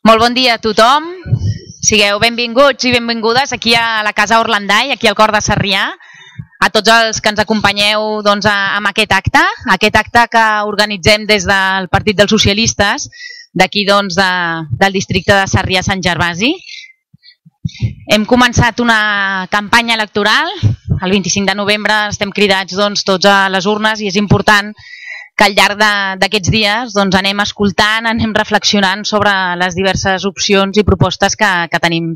Molt bon dia a tothom. Sigueu benvinguts i benvingudes aquí a la Casa Orlandai, aquí al cor de Sarrià, a tots els que ens acompanyeu amb aquest acte que organitzem des del Partit dels Socialistes, d'aquí del districte de Sarrià-Sant Gervasi. Hem començat una campanya electoral, el 25 de novembre estem cridats tots a les urnes i és important que al llarg d'aquests dies anem escoltant, anem reflexionant sobre les diverses opcions i propostes que tenim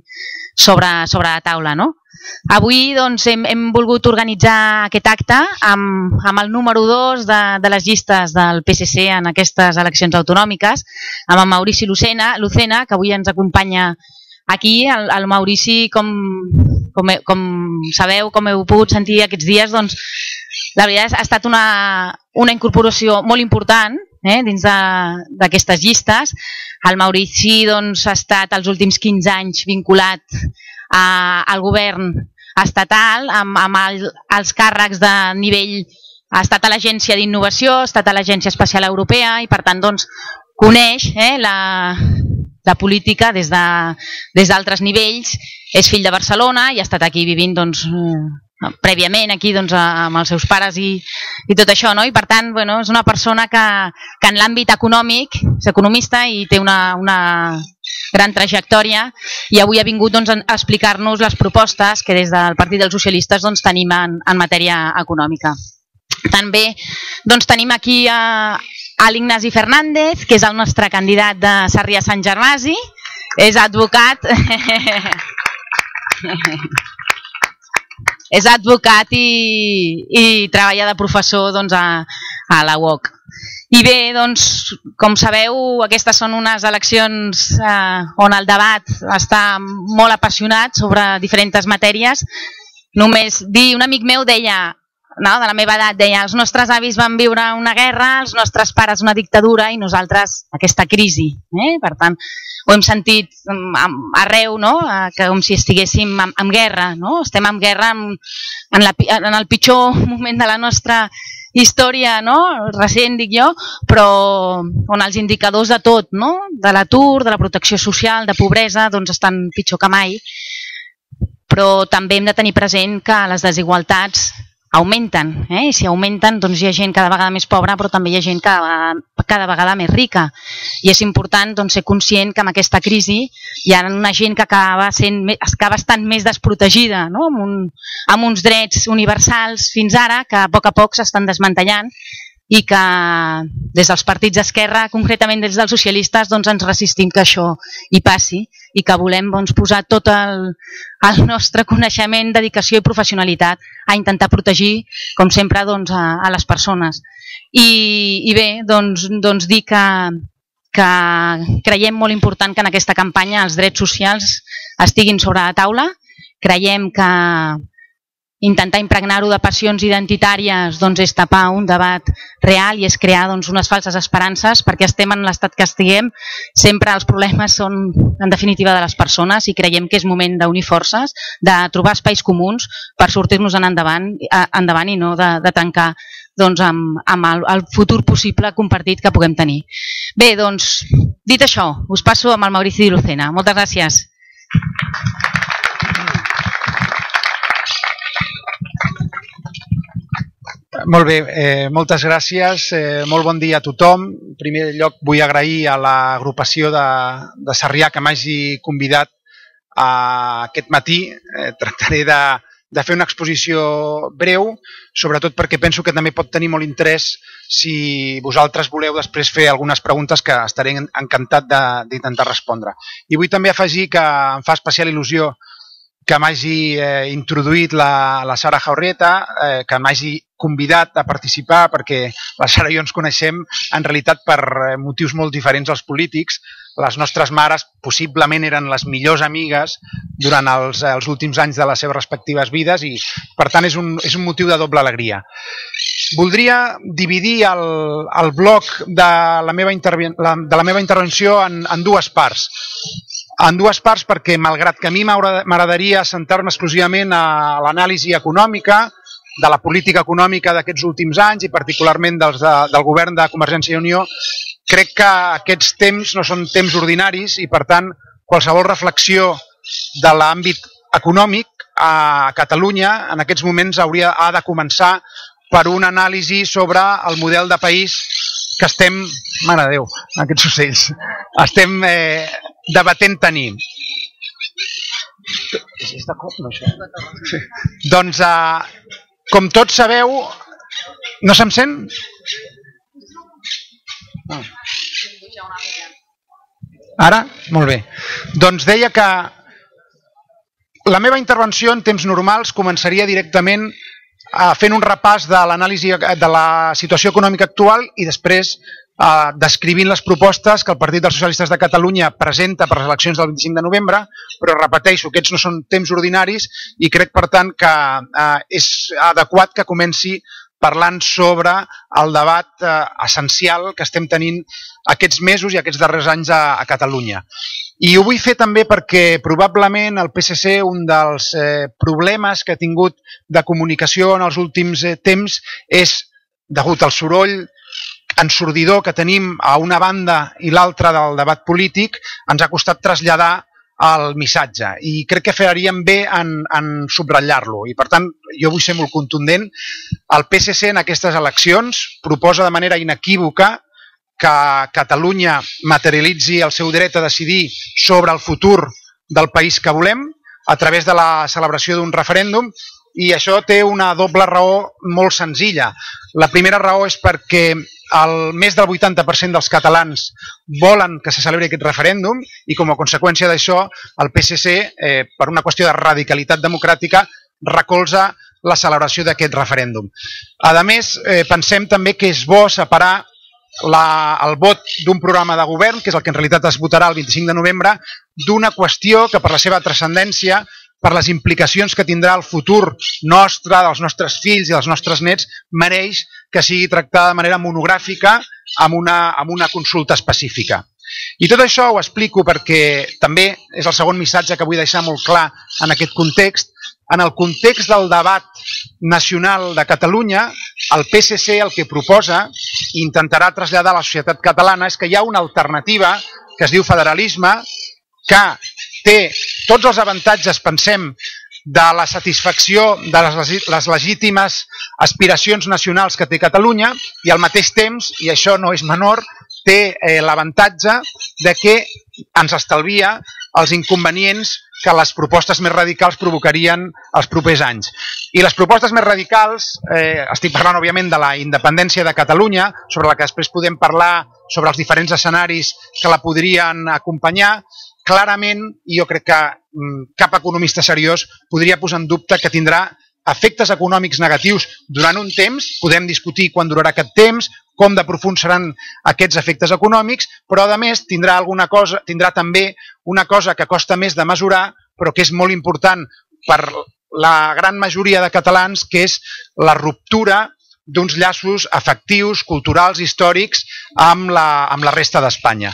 sobre la taula. Avui hem volgut organitzar aquest acte amb el número 2 de les llistes del PSC en aquestes eleccions autonòmiques, amb el Maurici Lucena, que avui ens acompanya aquí. El Maurici, com sabeu, com heu pogut sentir aquests dies, la veritat ha estat una incorporació molt important dins d'aquestes llistes. El Maurici ha estat els últims 15 anys vinculat al govern estatal, amb els càrrecs de nivell, ha estat a l'Agència d'Innovació, ha estat a l'Agència Espacial Europea i per tant coneix la política des d'altres nivells. És fill de Barcelona i ha estat aquí vivint prèviament aquí amb els seus pares i tot això, i per tant és una persona que en l'àmbit econòmic és economista i té una gran trajectòria i avui ha vingut a explicar-nos les propostes que des del Partit dels Socialistes tenim en matèria econòmica. També tenim aquí a l'Ignasi Fernández, que és el nostre candidat de Sarrià-Sant Gervasi, és advocat i treballa de professor a la UOC. I bé, com sabeu, aquestes són unes eleccions on el debat està molt apassionat sobre diferents matèries. Només dir, un amic meu deia, de la meva edat, deia: els nostres avis van viure una guerra, els nostres pares una dictadura i nosaltres aquesta crisi. Per tant, ho hem sentit arreu, com si estiguéssim en guerra. Estem en guerra en el pitjor moment de la nostra història recent, dic jo, però on els indicadors de tot, de l'atur, de la protecció social, de pobresa, estan pitjor que mai. Però també hem de tenir present que les desigualtats augmenten, i si augmenten hi ha gent cada vegada més pobra, però també hi ha gent cada vegada més rica. I és important ser conscient que amb aquesta crisi hi ha una gent que acaba estant més desprotegida, amb uns drets universals fins ara que a poc s'estan desmantellant i que des dels partits d'esquerra, concretament des dels socialistes, ens resistim que això hi passi i que volem posar tot el nostre coneixement, dedicació i professionalitat a intentar protegir, com sempre, a les persones. I bé, dir que creiem molt important que en aquesta campanya els drets socials estiguin sobre la taula. Creiem que intentar impregnar-ho de passions identitàries és tapar un debat real i és crear unes falses esperances, perquè estem en l'estat que estiguem. Sempre els problemes són, en definitiva, de les persones i creiem que és moment d'unir forces, de trobar espais comuns per sortir-nos endavant i no de tancar amb el futur possible compartit que puguem tenir. Bé, dit això, us passo amb el Maurici Lucena. Moltes gràcies. Molt bé, moltes gràcies. Molt bon dia a tothom. En primer lloc vull agrair a l'agrupació de Sarrià que m'hagi convidat aquest matí. Tractaré de fer una exposició breu, sobretot perquè penso que també pot tenir molt interès si vosaltres voleu després fer algunes preguntes que estaré encantat d'intentar respondre. I vull també afegir que em fa especial il·lusió que m'hagi introduït la Sara Jaurrieta, que m'hagi convidat a participar, perquè la Sara i jo ens coneixem en realitat per motius molt diferents als polítics. Les nostres mares possiblement eren les millors amigues durant els últims anys de les seves respectives vides i per tant és un motiu de doble alegria. Voldria dividir el bloc de la meva intervenció en dues parts. Perquè, malgrat que a mi m'agradaria centrar-me exclusivament a l'anàlisi econòmica, de la política econòmica d'aquests últims anys i particularment del govern de Convergència i Unió, crec que aquests temps no són temps ordinaris i, per tant, qualsevol reflexió de l'àmbit econòmic a Catalunya en aquests moments ha de començar per una anàlisi sobre el model de país que estem, mare de Déu, aquests ocells, estem debatent tenir. Doncs, com tots sabeu, no se'm sent? Ara? Molt bé. Doncs deia que la meva intervenció en temps normals començaria directament fent un repàs de l'anàlisi de la situació econòmica actual i després descrivint les propostes que el Partit dels Socialistes de Catalunya presenta per les eleccions del 25 de novembre, però repeteixo, aquests no són temps ordinaris i crec, per tant, que és adequat que comenci parlant sobre el debat essencial que estem tenint aquests mesos i aquests darrers anys a Catalunya. I ho vull fer també perquè probablement el PSC, un dels problemes que ha tingut de comunicació en els últims temps és, degut al soroll ensordidor que tenim a una banda i l'altra del debat polític, ens ha costat traslladar el missatge i crec que faríem bé en subratllar-lo i, per tant, jo vull ser molt contundent. El PSC en aquestes eleccions proposa de manera inequívoca que Catalunya materialitzi el seu dret a decidir sobre el futur del país que volem a través de la celebració d'un referèndum i això té una doble raó molt senzilla. La primera raó és perquè més del 80% dels catalans volen que se celebri aquest referèndum i com a conseqüència d'això el PSC, per una qüestió de radicalitat democràtica, recolza la celebració d'aquest referèndum. A més, pensem també que és bo separar el vot d'un programa de govern, que és el que en realitat es votarà el 25 de novembre, d'una qüestió que per la seva transcendència, per les implicacions que tindrà el futur nostre, dels nostres fills i dels nostres nets, mereix que sigui tractada de manera monogràfica amb una consulta específica. I tot això ho explico perquè també és el segon missatge que vull deixar molt clar en aquest context. En el context del debat nacional de Catalunya, el PSC el que proposa i intentarà traslladar a la societat catalana és que hi ha una alternativa que es diu federalisme, que té tots els avantatges, pensem, de la satisfacció de les legítimes aspiracions nacionals que té Catalunya i al mateix temps, i això no és menor, té l'avantatge de que ens estalvia els inconvenients que les propostes més radicals provocarien els propers anys. I les propostes més radicals, estic parlant òbviament de la independència de Catalunya, sobre la que després podem parlar sobre els diferents escenaris que la podrien acompanyar, clarament, i jo crec que cap economista seriós podria posar en dubte que tindrà efectes econòmics negatius durant un temps, podem discutir quan durarà aquest temps, com de profunds seran aquests efectes econòmics, però a més tindrà també una cosa que costa més de mesurar, però que és molt important per la gran majoria de catalans, que és la ruptura d'uns llaços afectius, culturals, històrics amb la resta d'Espanya.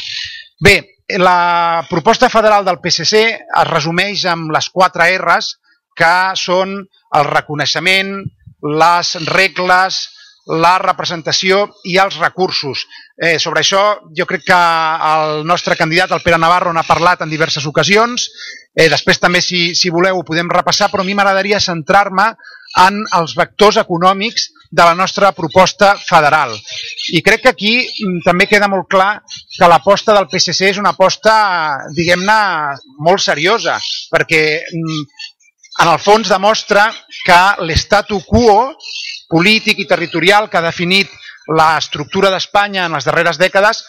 Bé, la proposta federal del PSC es resumeix amb les 4 R's, que són el reconeixement, les regles, la representació i els recursos. Sobre això jo crec que el nostre candidat, el Pere Navarro, n'ha parlat en diverses ocasions. Després també, si voleu, ho podem repassar, però a mi m'agradaria centrar-me en els vectors econòmics de la nostra proposta federal. I crec que aquí també queda molt clar que l'aposta del PSC és una aposta, diguem-ne, molt seriosa, perquè en el fons demostra que l'statu quo polític i territorial que ha definit l'estructura d'Espanya en les darreres dècades,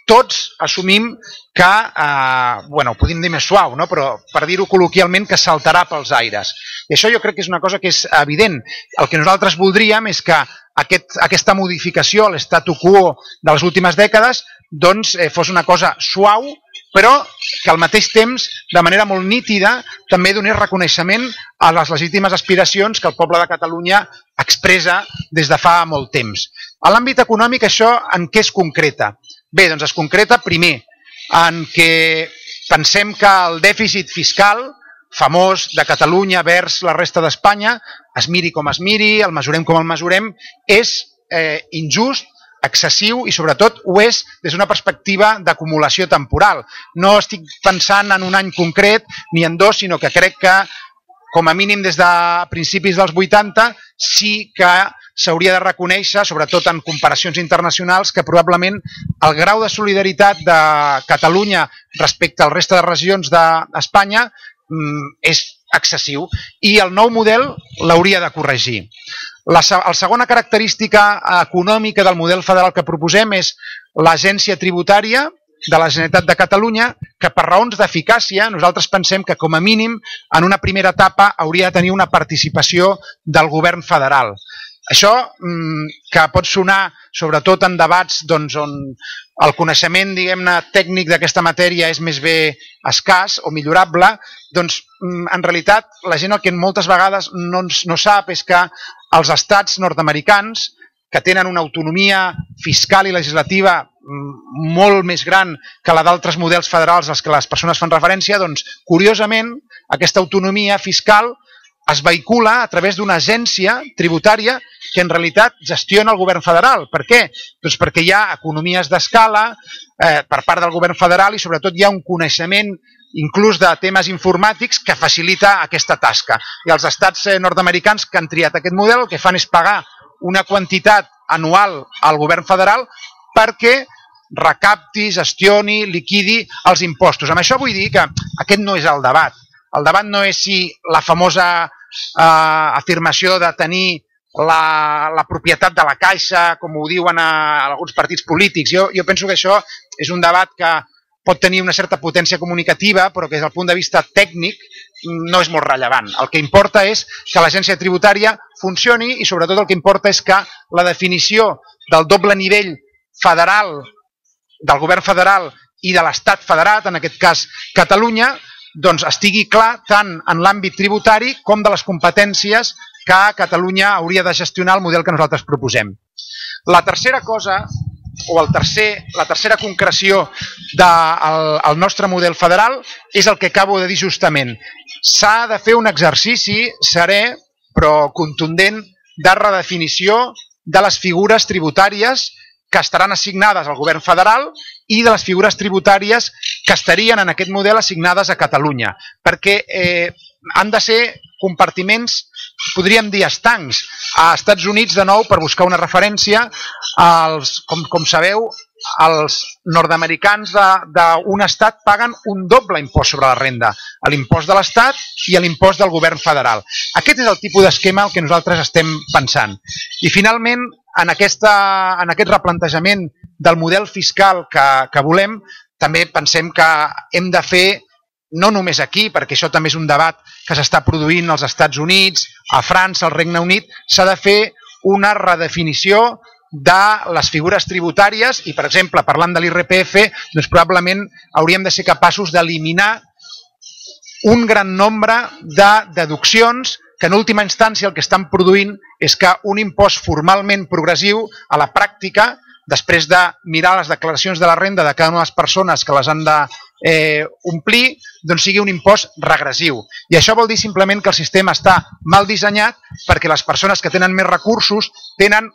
tots assumim que, ho podem dir més suau, però per dir-ho col·loquialment, que saltarà pels aires. I això jo crec que és una cosa que és evident. El que nosaltres voldríem és que aquesta modificació a l'statu quo de les últimes dècades fos una cosa suau, però que al mateix temps, de manera molt nítida, també donés reconeixement a les legítimes aspiracions que el poble de Catalunya expressa des de fa molt temps. A l'àmbit econòmic, això en què es concreta? Bé, doncs es concreta, primer, en què pensem que el dèficit fiscal famós de Catalunya vers la resta d'Espanya, es miri com es miri, el mesurem com el mesurem, és injust, excessiu i sobretot ho és des d'una perspectiva d'acumulació temporal. No estic pensant en un any concret ni en dos, sinó que crec que com a mínim des de principis dels 80 sí que s'hauria de reconèixer, sobretot en comparacions internacionals, que probablement el grau de solidaritat de Catalunya respecte al resta de regions d'Espanya és excessiu i el nou model l'hauria de corregir. La segona característica econòmica del model federal que proposem és l'agència tributària de la Generalitat de Catalunya, que per raons d'eficàcia nosaltres pensem que com a mínim en una primera etapa hauria de tenir una participació del govern federal. Això, que pot sonar sobretot en debats on el coneixement tècnic d'aquesta matèria és més bé escàs o millorable, doncs en realitat la gent el que moltes vegades no sap és que els estats nord-americans, que tenen una autonomia fiscal i legislativa molt més gran que la d'altres models federals als que les persones fan referència, doncs curiosament aquesta autonomia fiscal es vehicula a través d'una agència tributària que en realitat gestiona el govern federal. Per què? Doncs perquè hi ha economies d'escala per part del govern federal i sobretot hi ha un coneixement inclús de temes informàtics que facilita aquesta tasca. I els estats nord-americans que han triat aquest model el que fan és pagar una quantitat anual al govern federal perquè recapti, gestioni, liquidi els impostos. Amb això vull dir que aquest no és el debat. El debat no és si la famosa afirmació de tenir la propietat de la caixa, com ho diuen alguns partits polítics. Jo penso que això és un debat que pot tenir una certa potència comunicativa, però que des del punt de vista tècnic no és molt rellevant. El que importa és que l'agència tributària funcioni i sobretot el que importa és que la definició del doble nivell federal, del govern federal i de l'estat federat, en aquest cas Catalunya, doncs estigui clar tant en l'àmbit tributari com de les competències que Catalunya hauria de gestionar el model que nosaltres proposem. La tercera cosa, o la tercera concreció del nostre model federal és el que acabo de dir justament. S'ha de fer un exercici serè però contundent de redefinició de les figures tributàries que estaran assignades al govern federal i de les figures tributàries que estarien en aquest model assignades a Catalunya, perquè han de ser compartiments, podríem dir estancs. A Estats Units, de nou, per buscar una referència, com sabeu, els nord-americans d'un estat paguen un doble impost sobre la renda, l'impost de l'estat i l'impost del govern federal. Aquest és el tipus d'esquema que nosaltres estem pensant. I finalment, en aquest replantejament del model fiscal que volem, també pensem que hem de fer, no només aquí, perquè això també és un debat que s'està produint als Estats Units, a França, al Regne Unit, s'ha de fer una redefinició de les figures tributàries i, per exemple, parlant de l'IRPF, doncs probablement hauríem de ser capaços d'eliminar un gran nombre de deduccions que en última instància el que estan produint és que un impost formalment progressiu a la pràctica, després de mirar les declaracions de la renda de cada una de les persones que les han d'omplir, doncs sigui un impost regressiu. I això vol dir simplement que el sistema està mal dissenyat perquè les persones que tenen més recursos tenen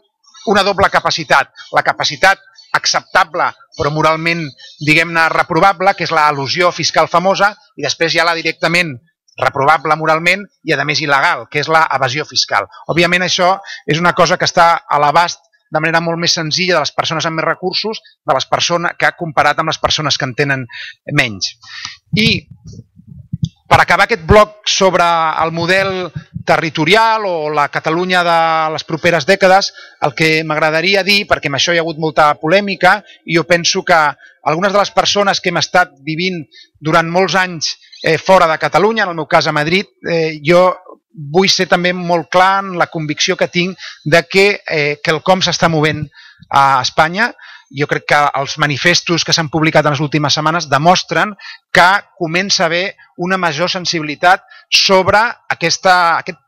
una doble capacitat. La capacitat acceptable però moralment, diguem-ne, reprovable, que és l'elusió fiscal famosa, i després hi ha la directament reprovable moralment i a més il·legal, que és l'evasió fiscal. Òbviament això és una cosa que està a l'abast de manera molt més senzilla de les persones amb més recursos que ha comparat amb les persones que en tenen menys. I per acabar aquest bloc sobre el model territorial o la Catalunya de les properes dècades, el que m'agradaria dir, perquè amb això hi ha hagut molta polèmica, i jo penso que algunes de les persones que hem estat vivint durant molts anys fora de Catalunya, en el meu cas a Madrid, jo vull ser també molt clar en la convicció que tinc de que quelcom s'està movent a Espanya. Jo crec que els manifestos que s'han publicat en les últimes setmanes demostren que comença a haver una major sensibilitat sobre aquest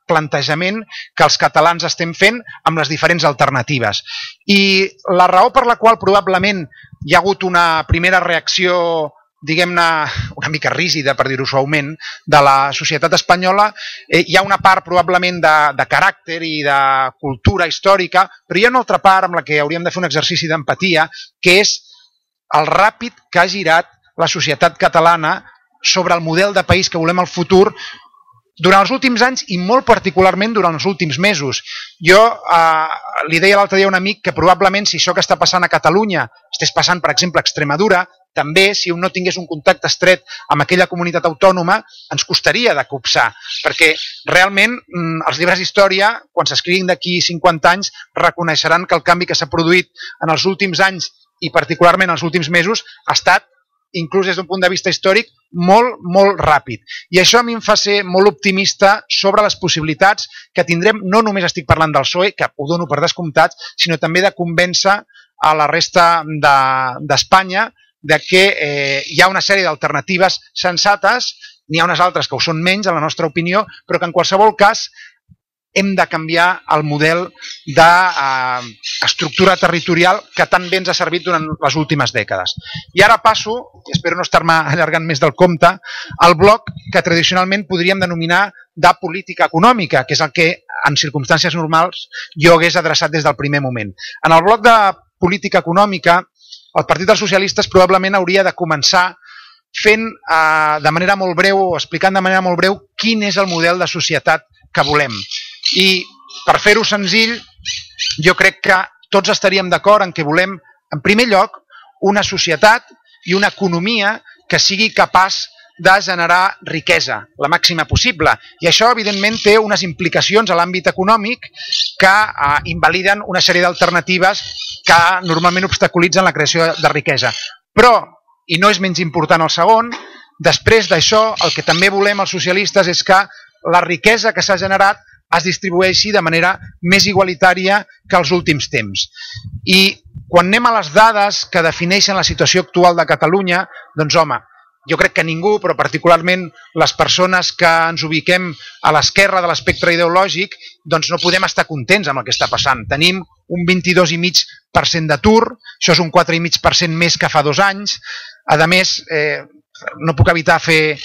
plantejament que els catalans estem fent amb les diferents alternatives. I la raó per la qual probablement hi ha hagut una primera reacció diguem-ne, una mica rígida, per dir-ho suaument, de la societat espanyola. Hi ha una part probablement de caràcter i de cultura històrica, però hi ha una altra part amb la que hauríem de fer un exercici d'empatia, que és el ràpid que ha girat la societat catalana sobre el model de país que volem al futur durant els últims anys i molt particularment durant els últims mesos. Jo li deia l'altre dia a un amic que probablement si això que està passant a Catalunya estigués passant, per exemple, a Extremadura, també si un no tingués un contacte estret amb aquella comunitat autònoma ens costaria de copsar, perquè realment els llibres d'història, quan s'escriguin d'aquí 50 anys, reconeixeran que el canvi que s'ha produït en els últims anys i particularment en els últims mesos ha estat, inclús des d'un punt de vista històric, molt, molt ràpid. I això a mi em fa ser molt optimista sobre les possibilitats que tindrem, no només estic parlant del PSOE, que ho dono per descomptat, sinó també de convèncer a la resta d'Espanya de que hi ha una sèrie d'alternatives sensates, n'hi ha unes altres que ho són menys, en la nostra opinió, però que en qualsevol cas hem de canviar el model d'estructura territorial que tan bé ens ha servit durant les últimes dècades. I ara passo, i espero no estar-me allargant més del compte, al bloc que tradicionalment podríem denominar de política econòmica, que és el que en circumstàncies normals jo hagués adreçat des del primer moment. En el bloc de política econòmica, el Partit dels Socialistes probablement hauria de començar fent de manera molt breu o explicant de manera molt breu quin és el model de societat que volem. I per fer-ho senzill, jo crec que tots estaríem d'acord en que volem, en primer lloc, una societat i una economia que sigui capaç de generar riquesa, la màxima possible. I això, evidentment, té unes implicacions a l'àmbit econòmic que invaliden una sèrie d'alternatives que normalment obstaculitzen la creació de riquesa. Però, i no és menys important el segon, després d'això, el que també volem els socialistes és que la riquesa que s'ha generat es distribueixi de manera més igualitària que els últims temps. I quan anem a les dades que defineixen la situació actual de Catalunya, doncs home, jo crec que ningú, però particularment les persones que ens ubiquem a l'esquerra de l'espectre ideològic, doncs no podem estar contents amb el que està passant. Tenim un 22,5% d'atur, això és un 4,5% més que fa 2 anys. A més, no puc evitar fer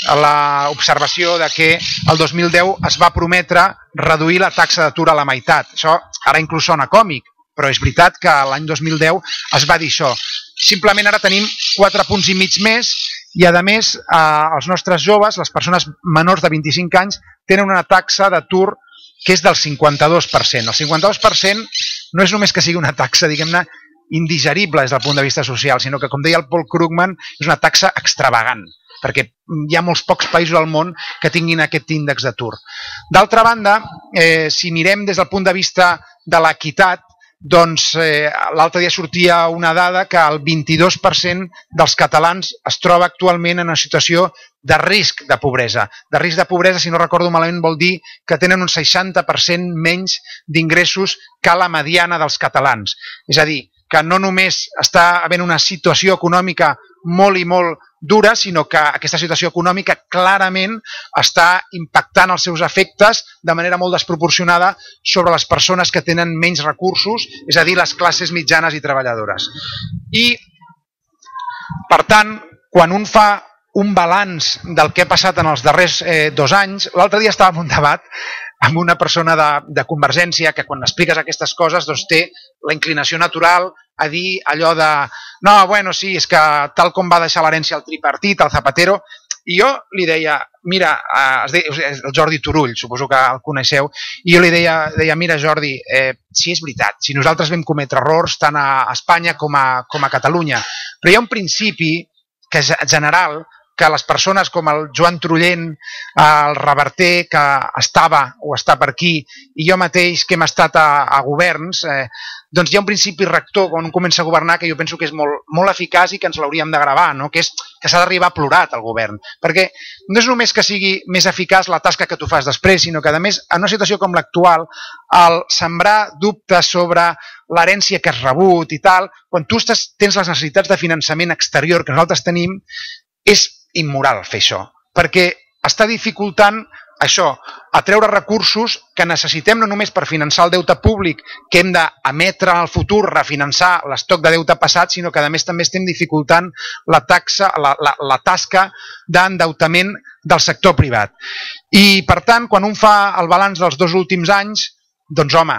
l'observació de que el 2010 es va prometre reduir la taxa d'atur a la meitat. Això ara inclús sona còmic, però és veritat que l'any 2010 es va dir això. Simplement ara tenim 4,5 punts més i a més els nostres joves, les persones menors de 25 anys, tenen una taxa d'atur que és del 52%. El 52% no és només que sigui una taxa, diguem-ne, indigerible des del punt de vista social, sinó que, com deia el Paul Krugman, és una taxa extravagant, perquè hi ha molts pocs països al món que tinguin aquest índex d'atur. D'altra banda, si mirem des del punt de vista de l'equitat, doncs l'altre dia sortia una dada que el 22% dels catalans es troba actualment en una situació de risc de pobresa. De risc de pobresa, si no recordo malament, vol dir que tenen un 60% menys d'ingressos que la mediana dels catalans. És a dir, que no només està havent una situació econòmica molt i molt dura, sinó que aquesta situació econòmica clarament està impactant els seus efectes de manera molt desproporcionada sobre les persones que tenen menys recursos, és a dir, les classes mitjanes i treballadores. I, per tant, quan un fa un balanç del que ha passat en els darrers 2 anys, l'altre dia estava en un debat amb una persona de Convergència que quan expliques aquestes coses doncs té la inclinació natural a dir allò de no, bueno, sí, és que tal com va deixar l'herència el tripartit, el Zapatero, i jo li deia, mira, el Jordi Turull, suposo que el coneixeu, i jo li deia, mira Jordi, sí, és veritat, si nosaltres vam cometre errors tant a Espanya com a Catalunya, però hi ha un principi que és general, que les persones com el Joan Trullent, el Reverter, que estava o està per aquí, i jo mateix que hem estat a governs, doncs hi ha un principi rector quan un comença a governar que jo penso que és molt eficaç i que ens l'hauríem de gravar, que és que s'ha d'arribar plurat al govern. Perquè no és només que sigui més eficaç la tasca que tu fas després, sinó que, a més, en una situació com l'actual, el sembrar dubtes sobre l'herència que has rebut i tal, quan tu tens les necessitats de finançament exterior que nosaltres tenim, és immoral fer això, perquè està dificultant això, atreure recursos que necessitem no només per finançar el deute públic que hem d'emetre en el futur, refinançar l'estoc de deute passat, sinó que a més també estem dificultant la tasca d'endeutament del sector privat. I per tant, quan un fa el balanç dels 2 últims anys, doncs home,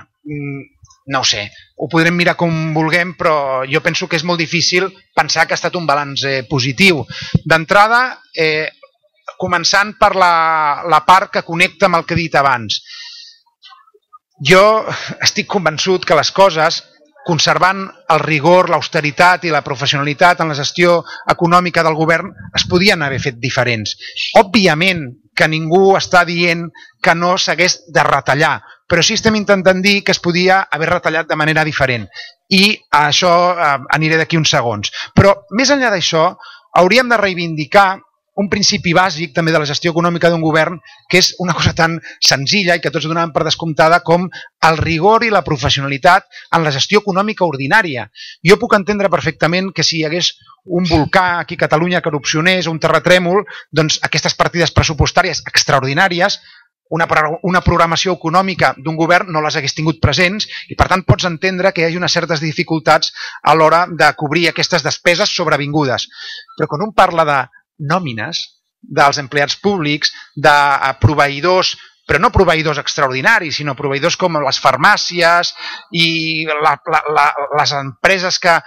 no ho sé, ho podrem mirar com vulguem, però jo penso que és molt difícil pensar que ha estat un balanç positiu. D'entrada, començant per la part que connecta amb el que he dit abans. Jo estic convençut que les coses, conservant el rigor, l'austeritat i la professionalitat en la gestió econòmica del govern, es podien haver fet diferents. Òbviament que ningú està dient que no s'hagués de retallar, però sí estem intentant dir que es podia haver retallat de manera diferent. I a això aniré d'aquí uns segons. Però més enllà d'això, hauríem de reivindicar un principi bàsic també de la gestió econòmica d'un govern, que és una cosa tan senzilla i que tots donaven per descomptada com el rigor i la professionalitat en la gestió econòmica ordinària. Jo puc entendre perfectament que si hi hagués un volcà aquí a Catalunya que erupcionés o un terratrèmol, doncs aquestes partides pressupostàries extraordinàries, una programació econòmica d'un govern no les hagués tingut presents i per tant pots entendre que hi hagi unes certes dificultats a l'hora de cobrir aquestes despeses sobrevingudes. Però quan un parla de nòmines dels empleats públics, de proveïdors, però no proveïdors extraordinaris, sinó proveïdors com les farmàcies i les empreses que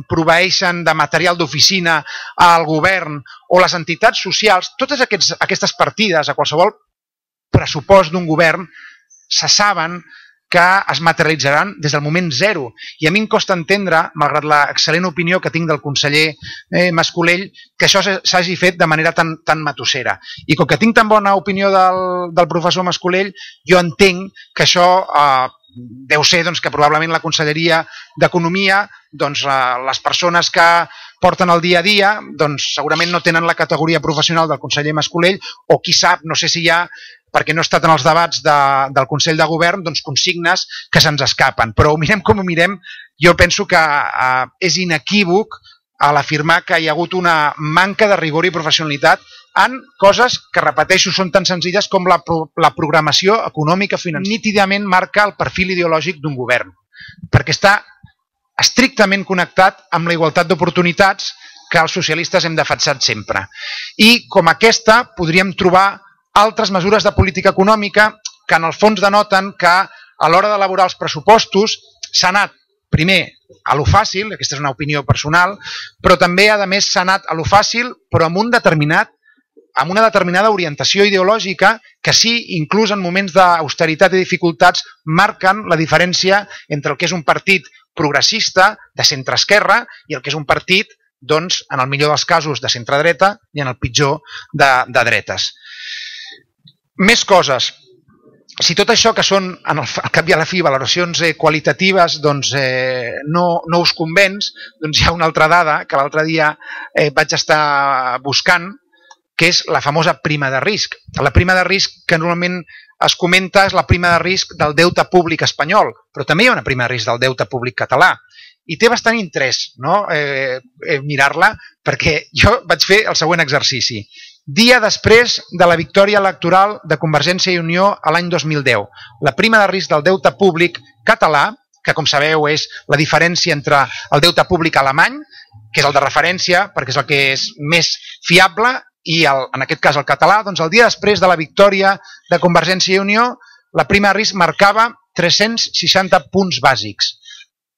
proveeixen de material d'oficina al govern o les entitats socials, totes aquestes partides a qualsevol pressupost d'un govern se saben que es materialitzaran des del moment zero. I a mi em costa entendre, malgrat l'excel·lent opinió que tinc del conseller Mascolell, que això s'hagi fet de manera tan matossera. I com que tinc tan bona opinió del professor Mascolell, jo entenc que això deu ser que probablement la Conselleria d'Economia, les persones que porten el dia a dia, segurament no tenen la categoria professional del conseller Mascolell, o qui sap, no sé si hi ha, perquè no he estat en els debats del Consell de Govern, consignes que se'ns escapen. Però ho mirem com ho mirem, jo penso que és inequívoc a l'afirmar que hi ha hagut una manca de rigor i professionalitat en coses que, repeteixo, són tan senzilles com la programació econòmica financera. Nítidament marca el perfil ideològic d'un govern, perquè està estrictament connectat amb la igualtat d'oportunitats que els socialistes hem defensat sempre. I com aquesta podríem trobar altres mesures de política econòmica que en el fons denoten que a l'hora d'elaborar els pressupostos s'ha anat primer a lo fàcil, aquesta és una opinió personal, però també a més s'ha anat a lo fàcil però amb una determinada orientació ideològica que sí, inclús en moments d'austeritat i dificultats, marquen la diferència entre el que és un partit progressista de centre-esquerra i el que és un partit, en el millor dels casos, de centre-dreta i en el pitjor de dretes. Més coses. Si tot això que són, al cap i a la fi, valoracions qualitatives no us convenç, hi ha una altra dada que l'altre dia vaig estar buscant, que és la famosa prima de risc. La prima de risc que normalment es comenta és la prima de risc del deute públic espanyol, però també hi ha una prima de risc del deute públic català. I té bastant interès mirar-la, perquè jo vaig fer el següent exercici. Dia després de la victòria electoral de Convergència i Unió a l'any 2010. La prima de risc del deute públic català, que com sabeu és la diferència entre el deute públic alemany, que és el de referència perquè és el que és més fiable, i en aquest cas el català, el dia després de la victòria de Convergència i Unió, la prima de risc marcava 360 punts bàsics.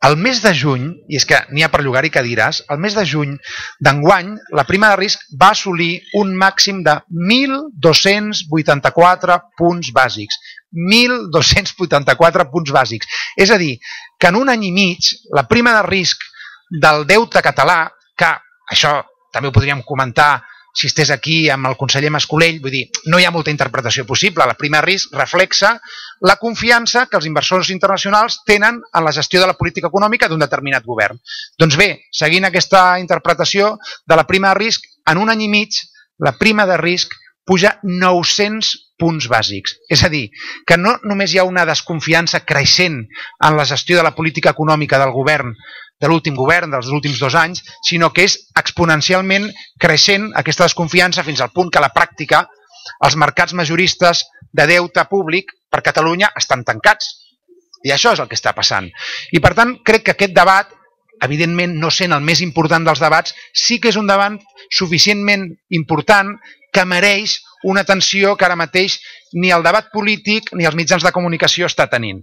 El mes de juny, i és que n'hi ha per llogar-hi cadires, el mes de juny d'enguany la prima de risc va assolir un màxim de 1.284 punts bàsics. 1.284 punts bàsics. És a dir, que en un any i mig la prima de risc del deute català, que això també ho podríem comentar si estés aquí amb el conseller Mascolell, vull dir, no hi ha molta interpretació possible. La prima de risc reflexa la confiança que els inversors internacionals tenen en la gestió de la política econòmica d'un determinat govern. Doncs bé, seguint aquesta interpretació de la prima de risc, en un any i mig la prima de risc puja 900 punts bàsics. És a dir, que no només hi ha una desconfiança creixent en la gestió de la política econòmica del govern, de l'últim govern, dels últims 2 anys, sinó que és exponencialment creixent aquesta desconfiança fins al punt que a la pràctica els mercats majoristes de deute públic per Catalunya estan tancats. I això és el que està passant. I per tant, crec que aquest debat, evidentment no sent el més important dels debats, sí que és un debat suficientment important que mereix una atenció que ara mateix ni el debat polític ni els mitjans de comunicació està tenint.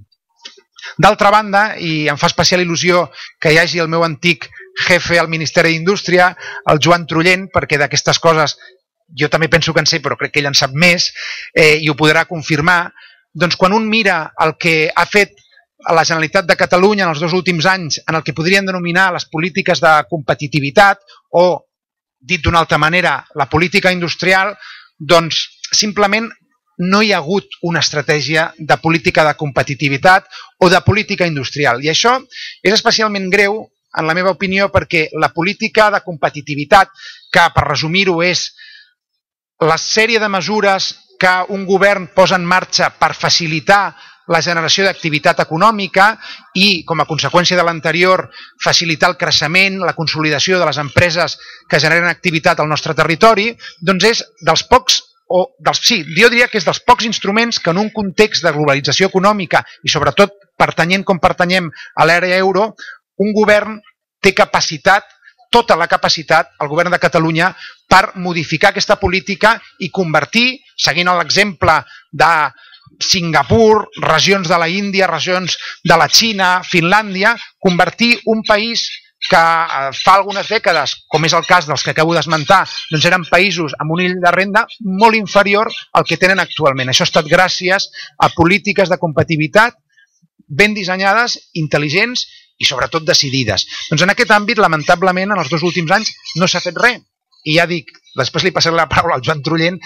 D'altra banda, i em fa especial il·lusió que hi hagi el meu antic jefe al Ministeri d'Indústria, el Joan Trullent, perquè d'aquestes coses jo també penso que en sé, però crec que ell en sap més, i ho podrà confirmar, doncs quan un mira el que ha fet la Generalitat de Catalunya en els 2 últims anys en el que podrien denominar les polítiques de competitivitat o, dit d'una altra manera, la política industrial, doncs simplement no hi ha hagut una estratègia de política de competitivitat o de política industrial. I això és especialment greu, en la meva opinió, perquè la política de competitivitat, que per resumir-ho és la sèrie de mesures que un govern posa en marxa per facilitar la generació d'activitat econòmica i, com a conseqüència de l'anterior, facilitar el creixement, la consolidació de les empreses que generen activitat al nostre territori, doncs és dels pocs, jo diria que és dels pocs instruments que en un context de globalització econòmica i sobretot pertanyent com pertanyem a l'àrea euro, un govern té capacitat, tota la capacitat, el govern de Catalunya, per modificar aquesta política i convertir, seguint l'exemple de Singapur, regions de la Índia, regions de la Xina, Finlàndia, convertir un país que fa algunes dècades, com és el cas dels que acabo d'esmentar, doncs eren països amb un nivell de renda molt inferior al que tenen actualment. Això ha estat gràcies a polítiques de competitivitat ben dissenyades, intel·ligents i sobretot decidides. Doncs en aquest àmbit, lamentablement, en els 2 últims anys no s'ha fet res. I ja dic, després li passaré la paraula al Joan Trullent,